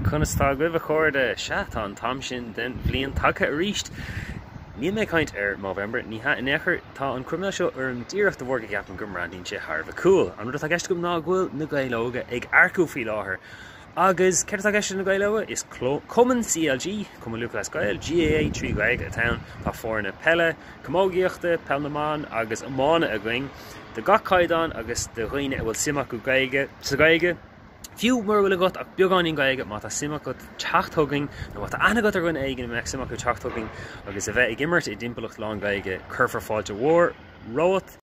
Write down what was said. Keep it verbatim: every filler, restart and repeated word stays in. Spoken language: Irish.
Conas tá agaibh a chairde sea tá an t-am sin den bhliain tagtha arís. Níl mé ag caint ar Movember ní hea in aon chor tá an croiméal seo orm díreach de bharr go gceapaim go mbreathnaíonn sé thar a bheith cool. An rud atá i gceist agam ná go bhfuil na Gaeil Óga ag earcú faoi láthair. Agus céard atá i gceist na Gaeil Óga is Cumann CLG, Cumann Lúthchleas Gael, GAA trí Ghaeilge atá ann, tá foirne peile, camógaíochta, peil na mban agus iomána againn, de gach caighdeán agus do dhaoine a bhfuil suim acu Gaeilge sa Ghaeilge. Fiú mura bhfuil agat ach beagáinín Gaeilge má tá suim agat teacht chugainn nó má tá aithne agat ar dhuine éigin a mbeadh suim acu teacht chugainn agus a bheith ag imirt i dtimpeallacht lán Gaeilge, cuirfear fáilte mhór romhat.